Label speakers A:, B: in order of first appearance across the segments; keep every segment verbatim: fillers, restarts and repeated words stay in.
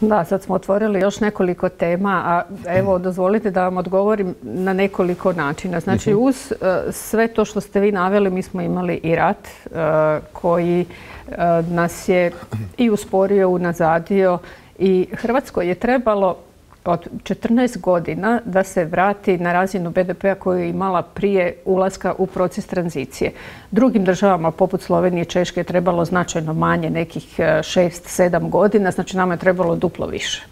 A: Da, sad smo otvorili još nekoliko tema, a evo dozvolite da vam odgovorim na nekoliko načina. Znači uz uh, sve to što ste vi naveli, mi smo imali i rat uh, koji uh, nas je i usporio, unazadio i Hrvatskoj je trebalo od četrnaest godina da se vrati na razinu be de pea koju je imala prije ulaska u proces tranzicije. Drugim državama poput Slovenije i Češke je trebalo značajno manje, nekih šest sedam godina, znači nama je trebalo duplo više.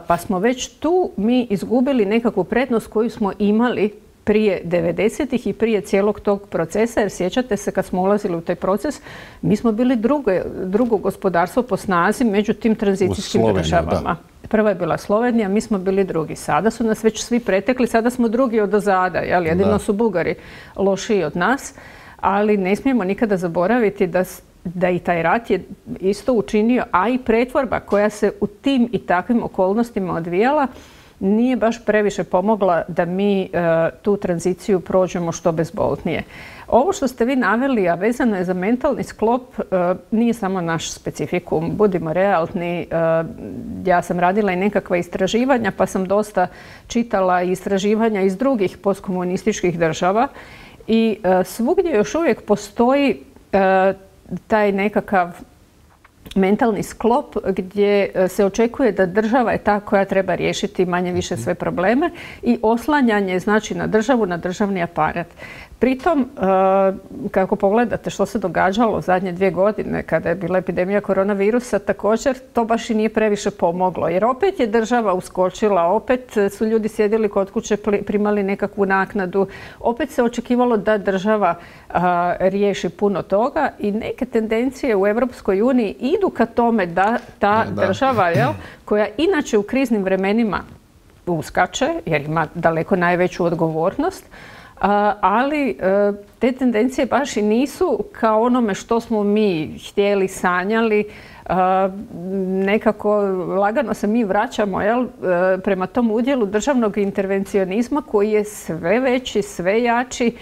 A: Pa smo već tu mi izgubili nekakvu prednost koju smo imali prije devedesetih i prije cijelog tog procesa, jer sjećate se kad smo ulazili u taj proces, mi smo bili drugo, drugo gospodarstvo po snazi među tim tranzicijskim državama. Da. Prva je bila Slovenija, mi smo bili drugi. Sada su nas već svi pretekli, sada smo drugi odozada, jel? Jedino da. Su Bugari lošiji od nas, ali ne smijemo nikada zaboraviti da, da i taj rat je isto učinio, a i pretvorba koja se u tim i takvim okolnostima odvijala, nije baš previše pomogla da mi uh, tu tranziciju prođemo što bezbolnije. Ovo što ste vi naveli, a vezano je za mentalni sklop, uh, nije samo naš specifikum. Budimo realni, uh, ja sam radila i nekakva istraživanja, pa sam dosta čitala istraživanja iz drugih postkomunističkih država i uh, svugdje još uvijek postoji uh, taj nekakav mentalni sklop gdje se očekuje da država je ta koja treba riješiti manje više sve probleme i oslanjanje znači na državu, na državni aparat. Pritom, kako pogledate što se događalo zadnje dvije godine kada je bila epidemija koronavirusa, također to baš i nije previše pomoglo. Jer opet je država uskočila, opet su ljudi sjedili kod kuće, primali nekakvu naknadu, opet se očekivalo da država a, riješi puno toga i neke tendencije u Europskoj uniji idu ka tome da ta da. država, jel, koja inače u kriznim vremenima uskače, jer ima daleko najveću odgovornost, Uh, ali uh, te tendencije baš i nisu kao onome što smo mi htjeli, sanjali. Uh, nekako lagano se mi vraćamo jel, uh, prema tom udjelu državnog intervencionizma koji je sve veći, sve jači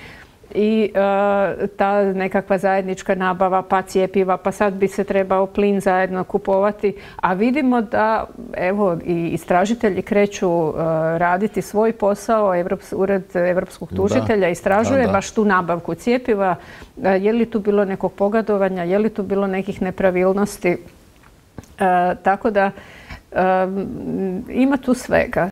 A: i uh, ta nekakva zajednička nabava, pa cjepiva, pa sad bi se trebao plin zajedno kupovati, a vidimo da evo i istražitelji kreću uh, raditi svoj posao, Evrops, Ured Europskog tužitelja da. istražuje da, da. baš tu nabavku cjepiva, uh, je li tu bilo nekog pogodovanja, je li tu bilo nekih nepravilnosti, uh, tako da um, ima tu svega.